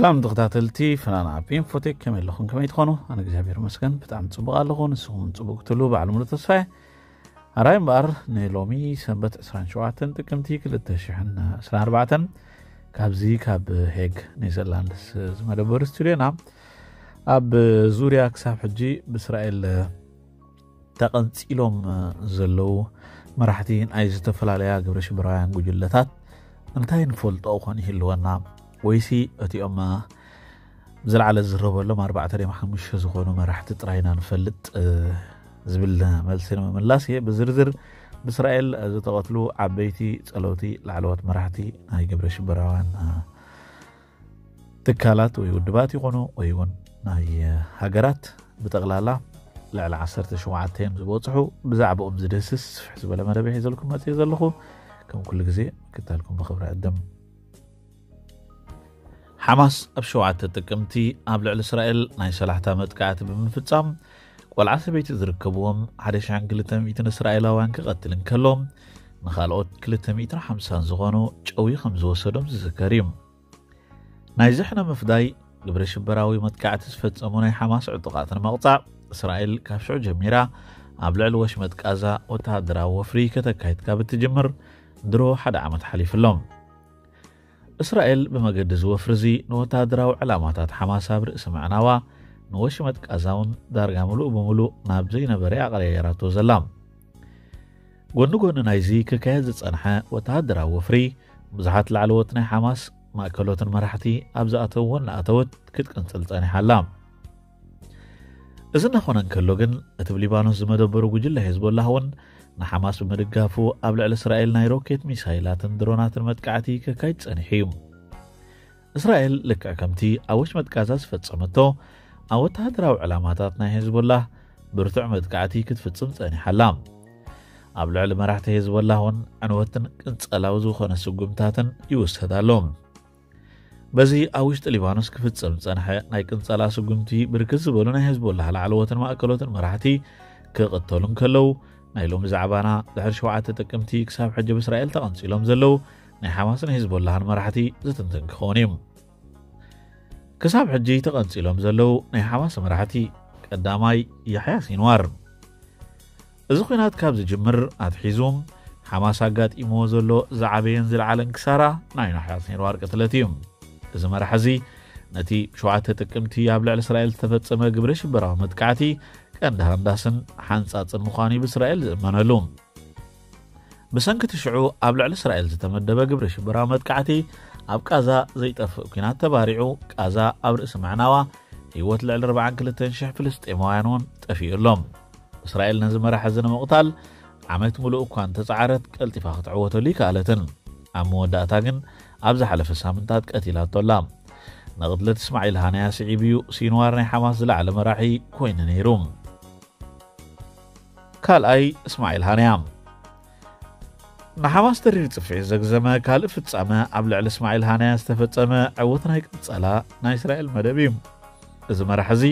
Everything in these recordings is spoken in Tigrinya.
ሰላም ተኸታተልቲ ፍናን ኣፕ ኢንፎቴክ፣ ከመይ ኣለኹም? ከመይ ትኾኑ? ኣነ እግዚኣብሔር ይመስገን ብጣዕሚ ጽቡቕ ኣለኹ። ንስኹም ጽቡቕ ክትህሉ ባዕሉ ሙሉ ተስፋ እየ። ኣራይ እምበኣር ንሎሚ ሰንበት ዕስራን ሸውዓተን ጥቅምቲ ክልተ ሽሕን ዕስራን ኣርባዕተን ካብዚ ካብ ሄግ ኔዘርላንድስ ዝመደበሩ ስቱድዮና ኣብ ዙርያ ክሳብ ሕጂ ብእስራኤል ተቐንጺሎም ዘለዉ መራሕቲ ናይ ዝተፈላለያ ግብረ ሽበራውያን ጉጅለታት እንታይ ንፈልጦ ኾን ይህልወና? ወይሲ እቲኦም ብዝለዓለ ዝዝረበሎም ኣርባዕተ ድዮም ሓሙሽተ ዝኾኑ መራሕቲ ጥራይ ኢና ንፈልጥ ዝብል መልሲ ንምምላስ እየ። ብዝርዝር ብእስራኤል ዝተቐትሉ ዓበይቲ ጸለውቲ ላዕለዎት መራሕቲ ናይ ግብረ ሽበራውያን ትካላት ወይ ውድባት ይኾኑ ወይ እውን ናይ ሃገራት ብጠቕላላ ልዕሊ ዓሰርተ ሸውዓተ እዮም ዝበፅሑ። ብዛዕባኦም ዝድህስስ ስፍሕ ዝበለ መደብ ሒዘልኩም መፅእ ዘለኹ። ከም ኩሉ ግዜ ምክታልኩም ብኽብሪ ዕድም። ሓማስ ኣብ ሸውዓተ ጥቅምቲ ኣብ ልዕሊ እስራኤል ናይ ሰላሕታ መጥቃዕቲ ብምፍጻም ቆልዓ ሰበይቲ ዝርከብዎም ሓደ ሽሕን ክልተ ሚእትን እስራኤላውያን ክቐትል እንከሎ ንኻልኦት ክልተ ሚእትን ሓምሳን ዝኾኑ ጨዊ ከም ዝወሰዶም ዝዝከር እዩ። ናይ ዝሕነ ምፍዳይ ግብረ ሽበራዊ መጥቃዕቲ ዝፈጸሙ ናይ ሓማስ ዕጡቓት ንምቕጻዕ እስራኤል ካብ ሽዑ ጀሚራ ኣብ ልዕሊ ወሽመጥ ቃዛ ወተሃደራዊ ወፍሪ ከተካይድ ካብ እትጅምር ድሮ ሓደ ዓመት ሓሊፉ ኣሎ። እስራኤል ብመገዲ እዚ ወፍሪ እዚ ንወተሃደራዊ ዕላማታት ሓማስ ኣብ ርእሲ ምዕናዋ ንወሽመጥ ቃዛ እውን ዳርጋ ምሉእ ብምሉእ ናብ ዘይነበረ ኣቐያየራቶ ዘላ። ጎኒ ጎኒ ናይዚ ክካየድ ዝጸንሐ ወተሃደራዊ ወፍሪ ብዙሓት ላዕለዎት ናይ ሓማስ ማእከሎትን መራሕቲ ኣብ ዝኣተውዎን እናኣተወት ክትቅንጽል ጸኒሓ ኣላ። እዚ እናኾነ እንከሎ ግን እቲ ብሊባኖስ ዝመደበሩ ጉጅለ ሄዝቦላህ እውን ንሓማስ ብምድጋፉ ኣብ ልዕሊ እስራኤል ናይ ሮኬት ሚሳይላትን ድሮናትን መጥቃዕቲ ከካይድ ጸኒሑ እዩ። እስራኤል ልክዕ ከምቲ ኣብ ወሽመጥ ቃዛ ዝፈጸመቶ ኣብ ወተሃደራዊ ዕላማታት ናይ ሄዝቦላህ ብርቱዕ መጥቃዕቲ ክትፍጽም ጸኒሓ ኣላ። ኣብ ልዕሊ መራሕቲ ሄዝቦላህ እውን ዕንወትን ቅንጸላዊ ዝኾነ ስጉምታትን ይውሰድ ኣሎ። በዚ ኣብ ውሽጢ ሊባኖስ ክፍጸም ዝጸንሐ ናይ ቅንጸላ ስጉምቲ ብርክት ዝበሉ ናይ ሄዝቦላህ ላዕለዎትን ማእከሎትን መራሕቲ ክቕተሉ እንከለዉ ናይ ሎሚ ዛዕባና ድሕሪ ሸውዓተ ጥቅምቲ ክሳብ ሕጂ ብእስራኤል ተቐንጺሎም ዘለዉ ናይ ሓማስን ሄዝቦላህን መራሕቲ ዝትንትን ክኸውን እዩ። ክሳብ ሕጂ ተቐንጺሎም ዘለዉ ናይ ሓማስ መራሕቲ ቀዳማይ ያሕያ ሲንዋር። እዚ ኲናት ካብ ዝጅምር ኣትሒዙ ሓማስ ኣጋጢምዎ ዘሎ ዝዓበየን ዝለዓለን ክሳራ ናይ ያሕያ ሲንዋር ቅትለት እዩ። እዚ መራሒ እዚ ነቲ ሸውዓተ ጥቅምቲ ኣብ ልዕሊ እስራኤል ዝተፈጸመ ግብረ ሽበራዊ መጥቃዕቲ ቀንዲ ሃንዳስን ሓንጻጽን ምዃኑ እዩ ብእስራኤል ዝእመነሉ። ብሰንኪ እቲ ሽዑ ኣብ ልዕሊ እስራኤል ዝተመደበ ግብረ ሽበራዊ መጥቃዕቲ ኣብ ቃዛ ዘይጠፍእ ኲናት ተባሪዑ ቃዛ ኣብ ርእሲ ምዕናዋ ህይወት ልዕሊ ኣርባዓን ክልተን ሽሕ ፍልስጤማውያን እውን ጠፊኡ ኣሎ። እስራኤል ነዚ መራሒ እዚ ንምቕታል ዓመት ምሉእ እኳ እንተጸዓረት ቀልጢፋ ክትዕወተሉ ይከኣለትን። ኣብ መወዳእታ ግን ኣብ ዝሓለፈ ሳምንታት ቀቲላቶ ኣላ። ንቕትለት እስማዒል ሃንያ ስዒቡ እዩ ሲንዋር ናይ ሓማስ ዝለዓለ መራሒ ኮይኑ ነይሩ። ካልኣይ እስማዒል ሃንያ። ንሓማስ ተሪር ጽፍዒት ዘግዘመ ካልእ ፍጻመ ኣብ ልዕሊ እስማዒል ሃንያ ዝተፈጸመ ዕውት ናይ ቅንጸላ ናይ እስራኤል መደብ እዩ። እዚ መራሒ እዚ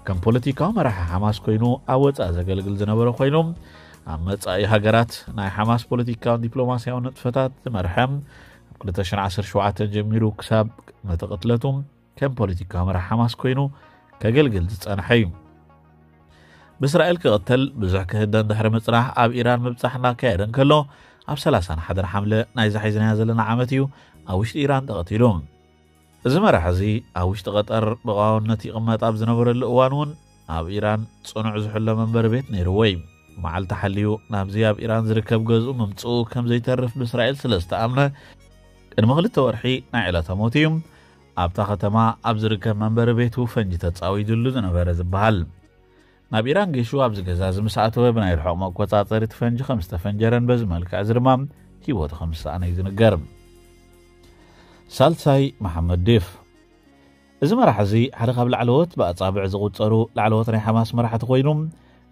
ከም ፖለቲካዊ መራሒ ሓማስ ኮይኑ ኣብ ወጻኢ ዘገልግል ዝነበረ ኮይኑ ኣብ መጻኢ ሃገራት ናይ ሓማስ ፖለቲካውን ዲፕሎማስያውን ንጥፈታት ዝመርሐ ኣብ ክልተ ሽሕን ዓሰርተ ሸውዓተን ጀሚሩ ክሳብ መተቕትለቱ ከም ፖለቲካዊ መራሒ ሓማስ ኮይኑ ከገልግል ዝጸንሐ እዩ። ብእስራኤል ክቕተል ብዙሕ ክህደን ድሕሪ ምጽናሕ ኣብ ኢራን ምብጻሕ እናካየደ እንከሎ ኣብ ሰላሳን ሓደን ሓምለ ናይዛ ሒዝናያ ዘለና ዓመት እዩ ኣብ ውሽጢ ኢራን ተቐቲሉ። እዚ መራሒ እዚ ኣብ ውሽጢ ቀጠር ብቐዋውነት ይቕመጥ ኣብ ዝነበረሉ እዋን እውን ኣብ ኢራን ጽኑዕ ዝሕሎ መንበሪ ቤት ነይርዎ እዩ። መዓልቲ ሓልዩ ናብዚ ኣብ ኢራን ዝርከብ ገዝኡ ምምጽኡ ከም ዘይተርፍ ብእስራኤል ስለ ዝተኣምነ ቅድሚ ክልተ ወርሒ ናይ ዕለተ ሞት እዩ ኣብታ ከተማ ኣብ ዝርከብ መንበሪ ቤቱ ፈንጂ ተጻዊዱሉ ዝነበረ ዝበሃል። ናብ ኢራን ጌሹ ኣብዚ ገዛ እዚ ምስ ኣተወ ብናይ ርሑቕ መቆጻጸሪ እቲ ፈንጂ ከም ዝተፈንጀረን በዚ መልክዕ እዚ ድማ ህይወቱ ከም ዝሰኣነ እዩ ዝንገር። ሳልሳይ መሓመድ ዴፍ። እዚ መራሒ እዚ ሓደ ካብ ላዕለዎት ብኣጻብዕ ዝቑጸሩ ላዕለዎት ናይ ሓማስ መራሕቲ ኮይኑ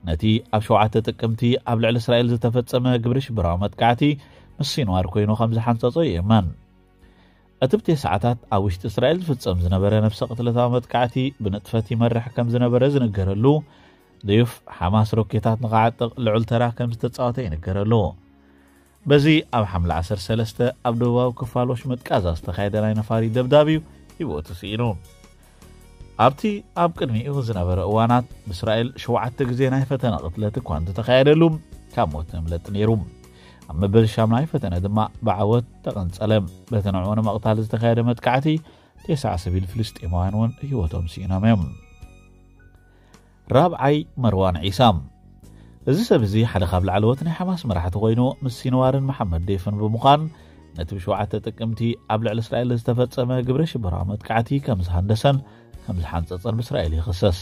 ነቲ ኣብ ሸውዓተ ጥቅምቲ ኣብ ልዕሊ እስራኤል ዝተፈጸመ ግብረ ሽበራዊ መጥቃዕቲ ምስ ሲንዋር ኮይኑ ከም ዝሓንጸጾ ይእመን። እቲ ብቴስዓታት ኣብ ውሽጢ እስራኤል ዝፍጸም ዝነበረ ነፍሰ ቅትለታዊ መጥቃዕቲ ብንጥፈት ይመርሕ ከም ዝነበረ ዝንገረሉ ደዩፍ ሓማስ ሮኬታት ንኽዓጥቕ ልዑል ተራ ከም ዝተጻወተ ይንገረሉ። በዚ ኣብ ሓምለ ዓሰርተ ሰለስተ ኣብ ደቡባዊ ክፋል ወሽመጥ ቃዛ ዝተኻየደ ናይ ነፋሪት ደብዳብ እዩ ህይወቱ ስኢኑ። ኣብቲ ኣብ ቅድሚኡ ዝነበረ እዋናት ብእስራኤል ሸውዓተ ግዜ ናይ ፈተነ ቅትለት እኳ እንተተኻየደሉ፣ ካብ ሞት ንምለጥ ነይሩ። ኣብ መበል ሻምናይ ፈተነ ድማ ብዓወት ተቐንጸለ። በቲ ንዕኡ ንምቕታል ዝተኻየደ መጥቃዕቲ፣ ተስዓ ሰቢል ፍልስጤማውያን እውን ህይወቶም ስኢኖም እዮም። ራብዓይ፣ መርዋን ዒሳ። እዚ ሰብ እዚ ሓደ ካብ ላዕለዎት ናይ ሓማስ መራሕቲ ኮይኑ፣ ምስ ሲንዋርን መሓመድ ዴፍን ብምዃን፣ ነቲ ብሸውዓተ ጥቅምቲ ኣብ ልዕሊ እስራኤል ዝተፈጸመ ግብረ ሽበራዊ መጥቃዕቲ ከም ዝሃንደሰን ከም ዝሓንጸጸን ብእስራኤል ይኽሰስ።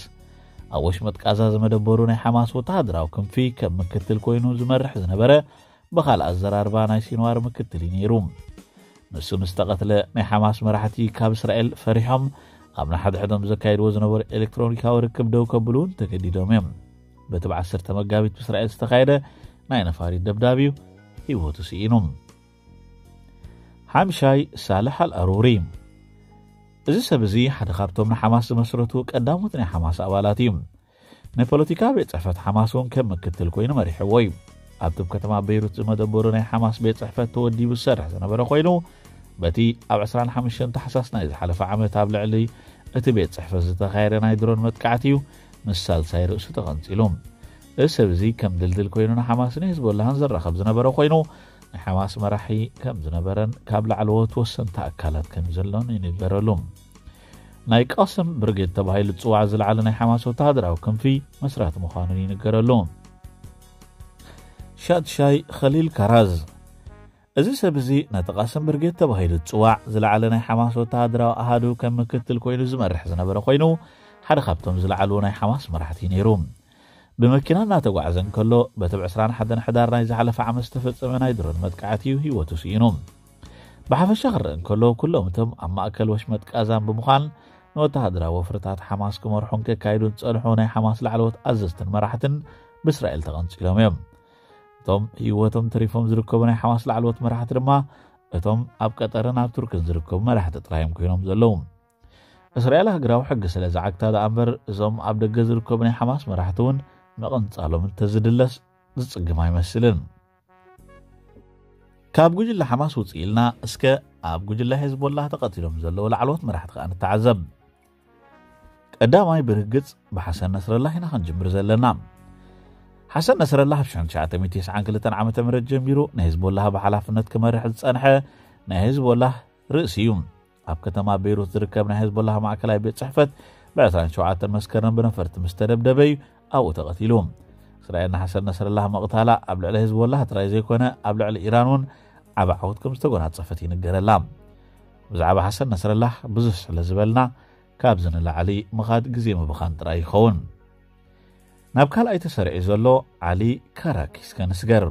ኣብ ወሽመጥ ቃዛ ዝመደበሩ ናይ ሓማስ ወተሃደራዊ ክንፊ ከም ምክትል ኮይኑ ዝመርሕ ዝነበረ፣ ብኻልእ ኣዘራርባ ናይ ሲንዋር ምክትል እዩ ነይሩ። ንሱ ምስ ተቐትለ፣ ናይ ሓማስ መራሕቲ ካብ እስራኤል ፈሪሖም፣ ኣብ ንሓድሕዶም ዘካይድዎ ዝነበሩ ኤሌክትሮኒካዊ ርክብ ደው ከብሉ እውን ተገዲዶም እዮም። በቲ ብ ዓሰርተ መጋቢት ብእስራኤል ዝተኻየደ ናይ ነፋሪት ደብዳብ እዩ ህይወቱ ስኢኑ። ሓምሻይ፣ ሳልሕ ኣልኣሩሪ። እዚ ሰብ እዚ ሓደ ካብቶም ንሓማስ ዝመስረቱ ቀዳሞት ናይ ሓማስ ኣባላት እዩ። ናይ ፖለቲካ ቤት ጽሕፈት ሓማስ እውን ከም ምክትል ኮይኑ መሪሕዎ እዩ። ኣብቲ ኣብ ከተማ ቤይሩት ዝመደበሩ ናይ ሓማስ ቤት ጽሕፈት ተወዲቡ ዝሰርሕ ዝነበረ ኮይኑ፣ በቲ ኣብ ዕስራን ሓሙሽተን ታሕሳስ ናይ ዝሓለፈ ዓመት ኣብ ልዕሊ እቲ ቤት ጽሕፈት ዝተኻየደ ናይ ድሮን መጥቃዕቲ እዩ ምስ ሳልሳይ ርእሱ ተቐንጺሉ። እዚ ሰብ እዚ ከም ድልድል ኮይኑ ንሓማስን ሂዝቦላህን ዘራኸብ ዝነበረ ኮይኑ፣ ናይ ሓማስ መራሒ ከም ዝነበረን ካብ ላዕለዎት ወሰንቲ ኣካላት ከም ዘሎን ይንገረሉ። ናይ ቃስም ብርጌድ ተባሂሉ ዝጽዋዕ ዝለዓለ ናይ ሓማስ ወተሃደራዊ ክንፊ መስራቲ ምዃኑን ይንገረሉ። ሻድሻይ፣ ኸሊል ካራዝ። እዚ ሰብ እዚ ነቲ ቃስም ብርጌድ ተባሂሉ ዝጽዋዕ ዝለዓለ ናይ ሓማስ ወተሃደራዊ ኣሃዱ ከም ምክትል ኮይኑ ዝመርሕ ዝነበረ ኮይኑ፣ ሓደ ካብቶም ዝለዓሉ ናይ ሓማስ መራሕቲ ነይሩ። ብመኪና እናተጓዕዘ እንከሎ፣ በቲ ብ ዕስራን ሓደን ሕዳር ናይ ዝሓለፈ ዓመት ዝተፈጸመ ናይ ድሮን መጥቃዕቲ እዩ ህይወቱ ስኢኑ። ብሓፈሻ ክረአ እንከሎ፣ ኩሎም እቶም ኣብ ማእከል ወሽመጥ ቃዛን ብምዃን ንወተሃደራዊ ወፍርታት ሓማስ ክመርሑን ከካይዱን ዝጸንሑ ናይ ሓማስ ላዕለዎት ኣዘዝትን መራሕትን ብእስራኤል ተቐንጺሎም እዮም። እቶም ህይወቶም ተሪፎም ዝርከቡ ናይ ሓማስ ላዕለዎት መራሕቲ ድማ፣ እቶም ኣብ ቀጠርን ኣብ ቱርክን ዝርከቡ መራሕቲ ጥራይ እዮም ኮይኖም ዘለዉ። እስራኤል ሃገራዊ ሕጊ ስለ ዝዓግታ ደኣ እምበር፣ እዞም ኣብ ደገ ዝርከቡ ናይ ሓማስ መራሕቲ እውን ምቕንጻሎም እንተዝድለስ ዝጽግም ኣይመስልን። ካብ ጉጅለ ሓማስ ውጽእ ኢልና፣ እስከ ኣብ ጉጅለ ሄዝቦላህ ተቐቲሎም ዘለዉ ላዕለዎት መራሕቲ ከኣ ንተዓዘብ። ቀዳማይ ብርግጽ ብሓሰን ነስረላህ ኢና ክንጅምር ዘለና። ሓሰን ነስረላህ ኣብ ሽሕን ትሽዓተ ሚእትን ተስዓን ክልተን ዓመተ ምህረት ጀሚሩ ንሄዝቦላህ ብሓላፍነት ክመርሕ ዝጸንሐ ናይ ሄዝቦላህ ርእሲ እዩ። ኣብ ከተማ ቤይሩት ዝርከብ ናይ ሄዝቦላህ ማእከላይ ቤት ጽሕፈት ብ ዕስራን ሸውዓተን መስከረም ብነፈርቲ ምስ ተደብደበ እዩ ኣብኡ ተቐቲሉ። እስራኤል ንሓሰን ነስረላህ ምቕታላ ኣብ ልዕሊ ሄዝቦላህ ጥራይ ዘይኮነ፣ ኣብ ልዕሊ ኢራን እውን ዓቢ ዓወት ከም ዝተጎናጸፈት ይንገረላ። ብዛዕባ ሓሰን ነስረላህ ብዙሕ ስለ ዝበልና፣ ካብዚ ንላዕሊ ምኻድ ግዜ ምብኻን ጥራይ ይኸውን። ናብ ካልኣይ ተሰሪዑ ዘሎ ዓሊ ካራክ እስከ ንስገር።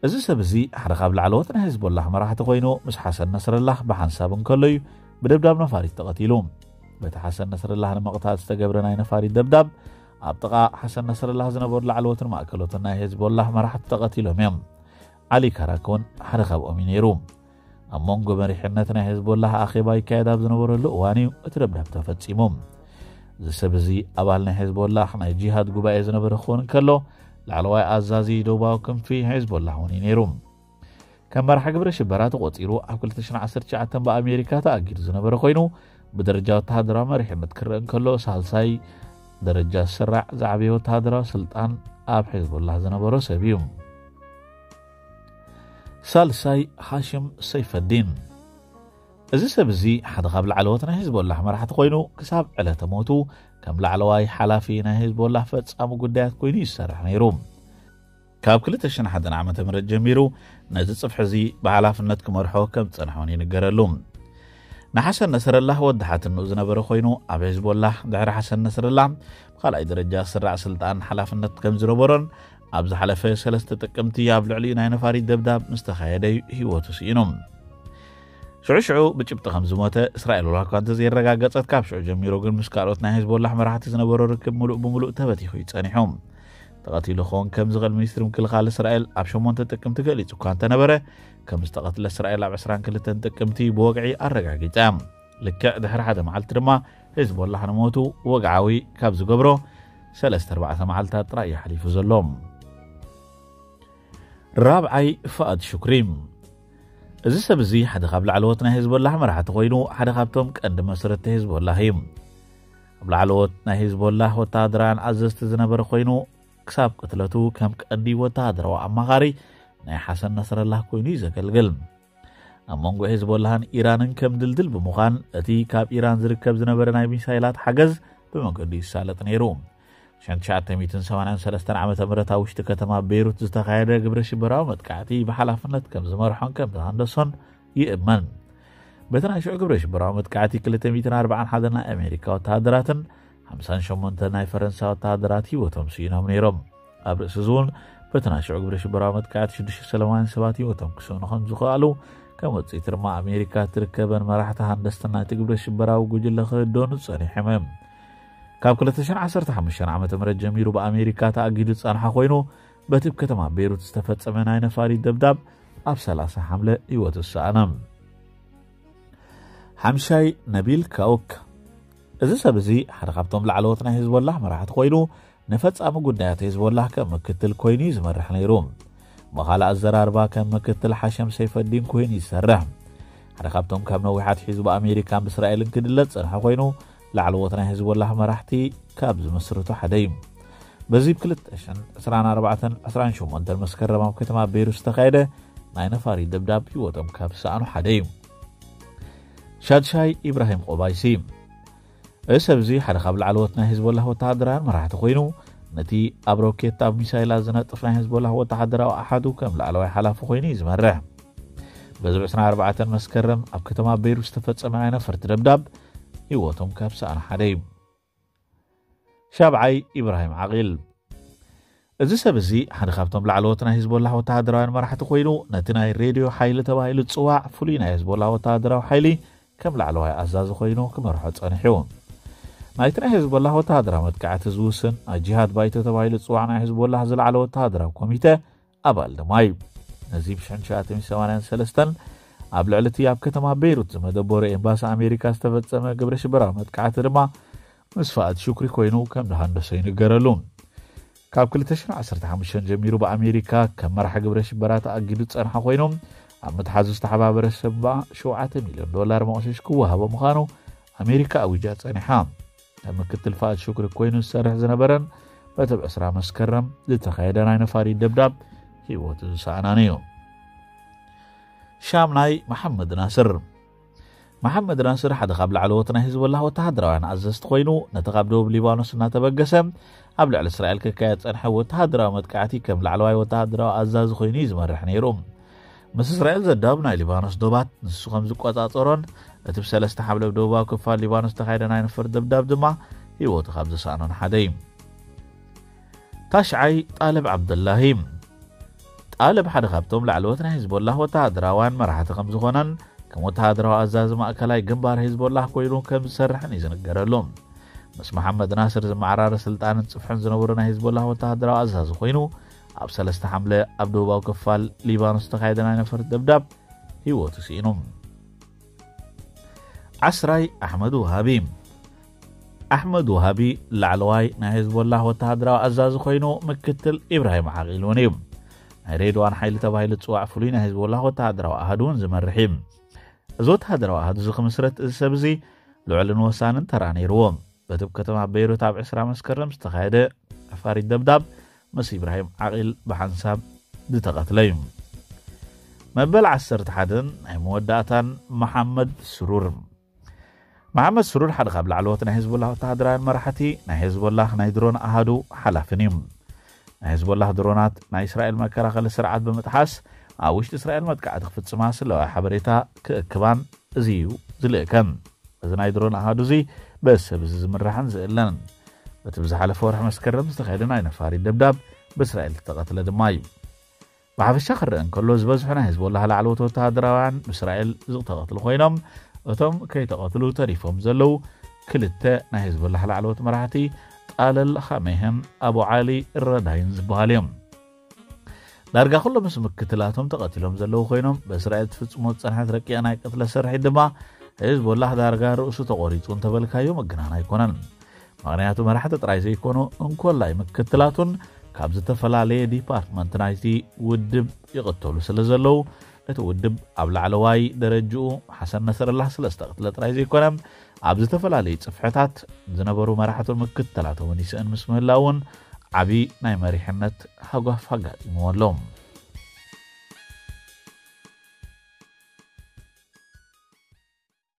እዚ ሰብ እዚ ሓደ ካብ ላዕለዎት ናይ ሄዝቦላህ መራሕቲ ኮይኑ፣ ምስ ሓሰን ነስረላህ ብሓንሳብ እንከሎ እዩ ብደብዳብ ነፋሪት ተቐቲሉ። በቲ ሓሰን ነስረላህ ንምቕታል ዝተገብረ ናይ ነፋሪት ደብዳብ፣ ኣብ ጥቓ ሓሰን ነስረላህ ዝነበሩ ላዕለዎትን ማእከሎትን ናይ ሄዝቦላህ መራሕቲ ተቐቲሎም እዮም። ዓሊ ካራክ እውን ሓደ ካብኦም እዩ ነይሩ። ኣብ መንጎ መሪሕነት ናይ ሄዝቦላህ ኣኼባ ይካየድ ኣብ ዝነበረሉ እዋን እዩ እቲ ደብዳብ ተፈጺሙ። እዚ ሰብ እዚ ኣባል ናይ ሄዝቦላህ ናይ ጂሃድ ጉባኤ ዝነበረ ክኸውን እንከሎ፣ ላዕለዋይ ኣዛዚ ደቡባዊ ክንፊ ሄዝቦላህ እውን እዩ ነይሩ። ከም መራሒ ግብረ ሽበራ ተቖጺሩ ኣብ ክልተ ሽሕን ዓሰርተ ትሽዓተን ብኣሜሪካ ተኣጊዱ ዝነበረ ኮይኑ፣ ብደረጃ ወተሃደራዊ መሪሕነት ክረአ እንከሎ፣ ሳልሳይ ደረጃ ዝስራዕ ዝዓበየ ወተሃደራዊ ስልጣን ኣብ ሄዝቦላህ ዝነበሮ ሰብ እዩ። ሳልሳይ፣ ሃሽም ሰይፈዲን። እዚ ሰብ እዚ ሓደ ካብ ላዕለዎት ናይ ሄዝቦላህ መራሕቲ ኮይኑ፣ ክሳብ ዕለተ ሞቱ ከም ላዕለዋይ ሓላፊ ናይ ሄዝቦላህ ፈጻሚ ጉዳያት ኮይኑ ይሰርሕ ነይሩ። ካብ ክልተ ሽሕን ሓደን ዓመተ ምህረት ጀሚሩ ነዚ ጽፍሒ እዚ ብሓላፍነት ክመርሖ ከም ዝጸንሐ እውን ይንገረሉ። ንሓሰን ነስረላህ ወዲ ሓትንኡ ዝነበረ ኮይኑ፣ ኣብ ሄዝቦላህ ድሕሪ ሓሰን ነስረላህ ብኻልኣይ ደረጃ ዝስራዕ ስልጣን ሓላፍነት ከም ዝነበሮን፣ ኣብ ዝሓለፈ ሰለስተ ጥቅምቲ ኣብ ልዕሊኡ ናይ ነፋሪት ደብዳብ ምስ ተኻየደ እዩ ህይወቱ ስኢኑ። ሽዑ ሽዑ ብጭብጢ ከም ዝሞተ እስራኤል ዋላ እኳ እንተዘየረጋገጸት፣ ካብ ሽዑ ጀሚሩ ግን ምስ ካልኦት ናይ ሄዝቦላህ መራሕቲ ዝነበሮ ርክብ ምሉእ ብምሉእ ተበቲኹ እዩ ጸኒሑ። ተቐቲሉ ክኸውን ከም ዝኽእል ሚኒስትሪ ምክልኻል እስራኤል ኣብ ሸሞንተ ጥቅምቲ ገሊጹ እኳ እንተነበረ፣ ከም ዝተቐትለ እስራኤል ኣብ ዕስራን ክልተን ጥቅምቲ ብወግዒ ኣረጋጊጻ። ልክዕ ድሕሪ ሓደ መዓልቲ ድማ ሄዝቦላህ ንሞቱ ወግዓዊ ካብ ዝገብሮ ሰለስተ ኣርባዕተ መዓልታት ጥራይ እዩ ሓሊፉ ዘሎ። ራብዓይ፣ ፋኣድ ሹክሪ። እዚ ሰብ እዚ ሓደ ካብ ላዕለዎት ናይ ሂዝቦላህ መራሕቲ ኮይኑ፣ ሓደ ካብቶም ቀንዲ መስረቲ ሂዝቦላህ እዩ። ኣብ ላዕለዎት ናይ ሂዝቦላህ ወተሃደራውያን ኣዘዝቲ ዝነበረ ኮይኑ፣ ክሳብ ቅትለቱ ከም ቀንዲ ወተሃደራዊ ኣማኻሪ ናይ ሓሰን ነስረላህ ኮይኑ እዩ ዘገልግል። ኣብ መንጎ ሂዝቦላህን ኢራንን ከም ድልድል ብምዃን፣ እቲ ካብ ኢራን ዝርከብ ዝነበረ ናይ ሚሳይላት ሓገዝ ብመገዱ ይሳለጥ ነይሩ። ሸንትሻዓተ ሚእትን ሰማንያን ሰለስተን ዓመተ ምህረት ኣብ ውሽጢ ከተማ ቤይሩት ዝተኻየደ ግብረ ሽበራዊ መጥቃዕቲ ብሓላፍነት ከም ዝመርሖን ከም ዝሃንደሶን ይእመን። በቲ ናይ ሽዑ ግብረ ሽበራዊ መጥቃዕቲ ክልተ ሚእትን ኣርባዓን ሓደን ናይ ኣሜሪካ ወተሃደራትን ሓምሳን ሸሞንተ ናይ ፈረንሳ ወተሃደራት ህይወቶም ስኢኖም ነይሮም። ኣብ ርእሲ እዚ እውን በቲ ናይ ሽዑ ግብረ ሽበራዊ መጥቃዕቲ ሽዱሽተ ሰለማውያን ሰባት ህይወቶም ክስእኑ ከም ዝኸኣሉ ከም ውፅኢት ድማ ኣሜሪካ ትርከበን መራሕቲ ሃንደስትን ናይቲ ግብረ ሽበራዊ ጉጅለ ክህደኑ ጸኒሖም እዮም። ካብ ክልተ ሽሕን ዓሰርተ ሓሙሽተን ዓመተ ምህረት ጀሚሩ ብኣሜሪካ ተኣጊዱ ዝጸንሐ ኮይኑ፣ በቲ ኣብ ከተማ ቤይሩት ዝተፈጸመ ናይ ነፋሪት ደብዳብ ኣብ ሰላሳ ሓምለ ህይወቱ ዝሰኣነ። ሓምሻይ ነቢል ካውክ። እዚ ሰብ እዚ ሓደ ካብቶም ላዕለዎት ናይ ሂዝቦላህ መራሕቲ ኮይኑ፣ ንፈጻሚ ጉዳያት ሂዝቦላህ ከም ምክትል ኮይኑ እዩ ዝመርሕ ነይሩ። ብኻልእ ኣዘራርባ ከም ምክትል ሓሸም ሰይፈዲን ኮይኑ ይሰርሕ። ሓደ ካብቶም ካብ ነዊሕ ኣትሒዙ ብኣሜሪካን ብእስራኤልን ክድለ ዝጸንሐ ኮይኑ፣ ላዕለዎት ናይ ሂዝቦላህ መራሕቲ ካብ ዝምስርቱ ሓደ እዩ። በዚ ብ ክልተ ሽሕን ዕስራን ኣርባዕተን ዕስራን ሸሞንተን መስከረም ኣብ ከተማ ቤይሩት ዝተኻየደ ናይ ነፋሪት ደብዳብ ህይወቶም ካብ ዝሰኣኑ ሓደ እዩ። ሻድሻይ ኢብራሂም ቆባይሲ። እዚ ሰብ እዚ ሓደ ካብ ላዕለዎት ናይ ሂዝቦላህ ወተሃደራውያን መራሕቲ ኮይኑ፣ ነቲ ኣብ ሮኬት ኣብ ሚሳይላት ዝነጥፍ ናይ ሂዝቦላህ ወተሃደራዊ ኣሓዱ ከም ላዕለዋይ ሓላፊ ኮይኑ እዩ ዝመርሕ። በዚ ብ ዕስራን ኣርባዕተን መስከረም ኣብ ከተማ ቤይሩት ዝተፈጸመ ናይ ነፈርቲ ደብዳብ ህይወቶም ካብ ዝሰኣኑ ሓደ እዩ። ሻብዓይ ኢብራሂም ዓቂል። እዚ ሰብ እዚ ሓደ ካብቶም ላዕለዎት ናይ ሂዝቦላህ ወተሃደራውያን መራሕቲ ኮይኑ፣ ነቲ ናይ ሬድዮ ሓይሊ ተባሂሉ ዝጽዋዕ ፍሉይ ናይ ሂዝቦላህ ወተሃደራዊ ሓይሊ ከም ላዕለዋይ ኣዛዚ ኮይኑ ክመርሖ ጸኒሑ። ናይቲ ናይ ሂዝቦላህ ወተሃደራዊ መጥቃዕቲ ዝውስን ናይ ጂሃድ ባይቶ ተባሂሉ ዝጽዋዕ ናይ ሂዝቦላህ ዝለዓለ ወተሃደራዊ ኮሚተ ኣባል ድማ እዩ። ነዚ ብ ሽሕን ትሽዓተ ሚእትን ሰማንያን ሰለስተን ኣብ ልዕሊ እቲ ኣብ ከተማ ቤይሩት ዝመደበሩ ኤምባሲ ኣሜሪካ ዝተፈጸመ ግብረ ሽበራዊ መጥቃዕቲ ድማ ምስ ፋእድ ሹክሪ ኮይኑ ከም ዝሃንደሶ ይንገረሉ። ካብ ክልተ ሽሕን ዓሰርተ ሓሙሽተን ጀሚሩ ብኣሜሪካ ከም መራሒ ግብረ ሽበራ ተኣጊዱ ዝጸንሐ ኮይኑ፣ ኣብ ምትሓዙ ዝተሓባበረ ሰብ ሸውዓተ ሚልዮን ዶላር መቕሸሽ ክወሃቦ ምዃኑ ኣሜሪካ ኣዊጃ ጸኒሓ። ከም ምክትል ፋእድ ሹክሪ ኮይኑ ዝሰርሕ ዝነበረን በቲ ብ ዕስራ መስከረም ዝተኻየደ ናይ ነፋሪት ደብዳብ ህይወቱ ዝሰኣናን እዩ። ሻምናይ መሓመድ ናስር። መሓመድ ናስር ሓደ ካብ ላዕለዎት ናይ ሂዝቦላህ ወተሃደራውያን ኣዘዝቲ ኮይኑ፣ ነቲ ካብ ደቡብ ሊባኖስ እናተበገሰ ኣብ ልዕሊ እስራኤል ክካየድ ጸንሐ ወተሃደራዊ መጥቃዕቲ ከም ላዕለዋይ ወተሃደራዊ ኣዛዚ ኮይኑ እዩ ዝመርሕ ነይሩ። ምስ እስራኤል ዘዳውብ ናይ ሊባኖስ ዶባት ንሱ ከም ዝቆጻጸሮን እቲ ብ ሰለስተ ሓምለ ኣብ ደቡባዊ ክፋል ሊባኖስ ዝተኻየደ ናይ ነፈር ደብዳብ ድማ ህይወቱ ካብ ዝሰኣኖን ሓደ እዩ። ታሽዓይ ጣልብ ዓብደላሂ። ጣልብ ሓደ ካብቶም ላዕለዎት ናይ ሂዝቦላህ ወተሃደራውያን መራሕቲ ከም ዝኾነን ከም ወተሃደራዊ ኣዛዚ ማእከላይ ግንባር ሂዝቦላህ ኮይኑ ከም ዝሰርሕን እዩ ዝንገረሉ። ምስ መሓመድ ናስር ዝመዓራረ ስልጣንን ጽፍሕን ዝነበሩ ናይ ሂዝቦላህ ወተሃደራዊ ኣዛዚ ኮይኑ፣ ኣብ ሰለስተ ሓምለ ኣብ ደቡባዊ ክፋል ሊባኖስ ዝተኻየደ ናይ ነፈርቲ ደብዳብ ህይወቱ ስኢኑ። ዓስራይ ኣሕመድ ውሃቢ። ኣሕመድ ውሃቢ ላዕለዋይ ናይ ሂዝቦላህ ወተሃደራዊ ኣዛዚ ኮይኑ፣ ምክትል ኢብራሂም ዓቂል እውን እዩ። ናይ ሬድዋን ሓይሊ ተባሂሉ ዝጽዋዕ ፍሉይ ናይ ሂዝቦላህ ወተሃደራዊ ኣሃዱ እውን ዝመርሕ እዩ። እዚ ወተሃደራዊ ኣሃዱ እዚ ክምስረት እዚ ሰብ እዚ ልዑልን ወሳንን ተራ ነይርዎ። በቲ ኣብ ከተማ ቤይሩት ኣብ ዕስራ መስከረም ዝተኻየደ ነፋሪት ደብዳብ ምስ ኢብራሂም ዓቂል ብሓንሳብ ዝተቐትለ እዩ። መበል ዓሰርተ ሓደን ናይ መወዳእታን መሓመድ ስሩር። መሓመድ ስሩር ሓደ ካብ ላዕለዎት ናይ ሂዝቦላህ ወተሃደራውያን መራሕቲ፣ ናይ ሂዝቦላህ ናይ ድሮን ኣሃዱ ሓላፍን እዩ። ናይ ሂዝቦላህ ድሮናት ናይ እስራኤል መከላኸሊ ስርዓት ብምጥሓስ ኣብ ውሽጢ እስራኤል መጥቃዕቲ ክፍጽማ ስለዋይ ሓበሬታ ክእክባን እዚ እዩ ዝልእከን። እዚ ናይ ድሮን ኣሃዱ እዚ በዚ ሰብ እዚ ዝምራሕን ዝእለንን። በቲ ብዝሓለፈ ወርሒ መስከረም ዝተኻየደ ናይ ነፋሪት ደብዳብ ብእስራኤል ዝተቐትለ ድማ እዩ። ብሓፈሻ ክረአ እንከሎ፣ ዝበዝሑ ናይ ሂዝቦላህ ላዕለዎት ወተሃደራውያን ብእስራኤል ዝተቐትሉ ኮይኖም፣ እቶም ከይተቐትሉ ተሪፎም ዘለዉ ክልተ ናይ ሂዝቦላህ ላዕለዎት መራሕቲ ጣለል ኻሜህን ኣቡ ዓሊ ረዳይን ዝበሃሉ እዮም። ዳርጋ ኩሎም ምስ ምክትላቶም ተቐቲሎም ዘለዉ ኮይኖም፣ ብእስራኤል ትፍጽሞ ዝጸንሐት ረቂቕ ናይ ቅትለት ስርሒት ድማ ሂዝቦላህ ዳርጋ ርእሱ ተቖሪጹ እንተበልካዮ ምግናን ኣይኮነን። ምኽንያቱ መራሕቲ ጥራይ ዘይኮኑ፣ እንኮላይ ምክትላቱን ካብ ዝተፈላለየ ዲፓርትመንት ናይቲ ውድብ ይቕተሉ ስለ ዘለዉ፣ እቲ ውድብ ኣብ ላዕለዋይ ደረጅኡ ሓሰን ነስረላ ስለስተ ቅትለ ጥራይ ዘይኮነ፣ ኣብ ዝተፈላለዩ ጽፍሕታት ዝነበሩ መራሕቱ ምክትላቶም ይስእን ምስ ምህላውን ዓቢ ናይ መሪሕነት ሃጓፍ ኣጋጢምዎ ኣሎ።